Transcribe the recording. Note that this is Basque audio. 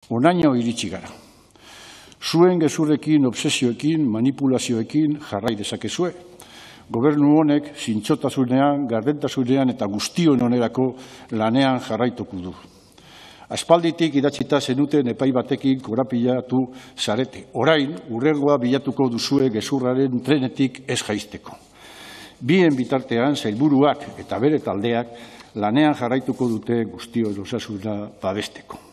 Honaino iritsi gara. Zuen gezurrekin, obsesioekin, manipulazioekin jarrai dezakezue. Gobernu honek zintzotasunean, gardentasunean eta guztion onerako lanean jarraituko du. Aspalditik idatzita zenuten epai batekin korapilatu zarete. Orain, hurrengoa bilatuko duzue gezurraren trenetik ez jaisteko. Bien bitartean, sailburuak eta bere taldeak lanean jarraituko dute guztion osasuna babesteko.